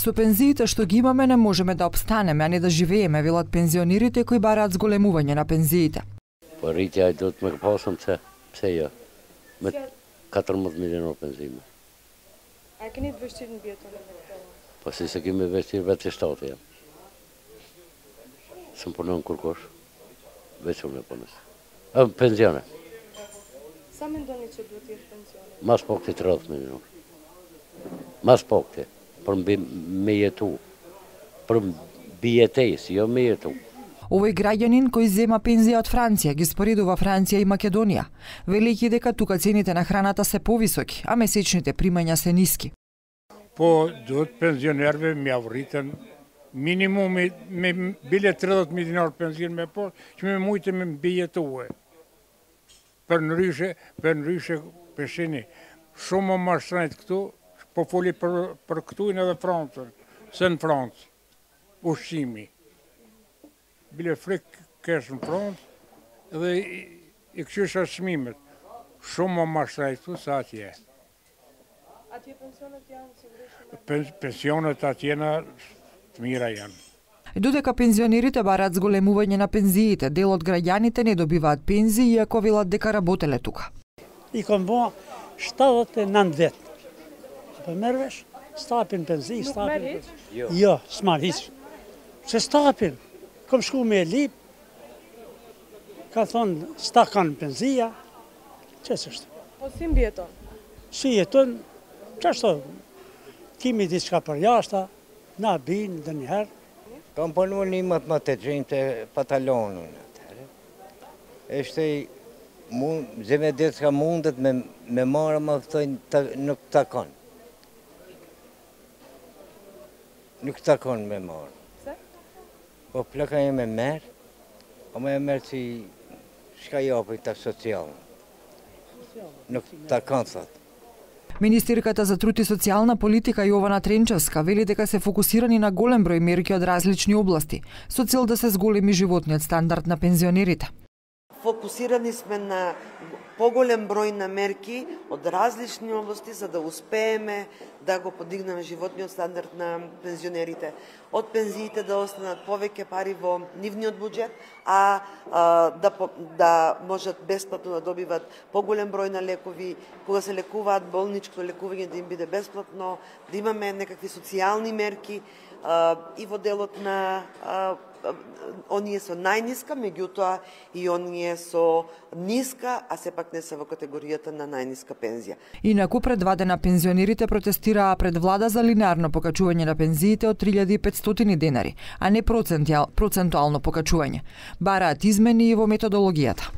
Со пензиите што ги имаме не можеме да обстанеме, а не да живееме, велат пензионерите кои бараат зголемување на пензиите. Парите ајдат ме посам се ја. Ме 14 милиони пензији. А kan niet besteden beter? Precies, ik me wist hier wat is dat ja. Съм по конкурс. Вече не помня. Пензиона. Само да не че дотир пензиона. Мас покте 30 милиона. Мас покте. Пром мејету. Пром биете си, ја мејету. Овој граѓанин кој зема пензија од Франција ги споредува Франција и Македонија, велики дека тука цените на храната се повисоки, а месечните примања се ниски. По дот пензионерве ми авритен минимум ме биле 30 милионар пензион ме по, ќе ме моите ме бијете уе. Пернрюше пешени. Шума маршрут кту, по фоли per кту и на Франција. Сен Франц. Ушими. Биле фрик керсен Франц, edhe I këshysha çmimet. Shumë më mashtretu sa atje. Atje pensionet janë sigurisht. Pensionet atje të mira janë. Додека пензионерите бараат зголемување на пензиите, дел од граѓаните не добиваат пензии, иако велат дека работеле тука. I kam bo 79 vjet. Po merresh, stapin penzi, stapin. Jo, s'marr hiç. Se stapin. Kom shku me lip. Ka thon stakan penzia. Ç'është është? Po si mbjeton? Si jeton? Ç'është? Kimi diçka për jashta, na bin ndonjëherë. Kam punuar një të gjejmë të patalonën atëherë. Ishte zemë ditë ka mundet me marrë më thojnë nuk takon. Nuk takon me marrë. Pse? Po plaka e me merë, o me merë që shka japë të socialnë. Nuk takon, thotë. Министерката за труд и социјална политика Јована Тренчевска вели дека се фокусирани на голем број мерки од различни области, со цел да се зголеми животниот стандард на пензионерите. Фокусирани сме на поголем број на мерки од различни области за да успееме да го подигнеме животниот стандард на пензионерите. Од пензиите да останат повеќе пари во нивниот буџет, а да можат бесплатно да добиват поголем број на лекови, кога се лекуваат болничко лекување да им биде бесплатно, да имаме некакви социјални мерки и во делот на оние со најниска, меѓутоа и оние со ниска, а сепак не се во категоријата на најниска пензија. Инаку предвадена пензионерите протестираа пред влада за линеарно покачување на пензиите од 3500 денари, а не процентуално покачување. Бараат измени и во методологијата.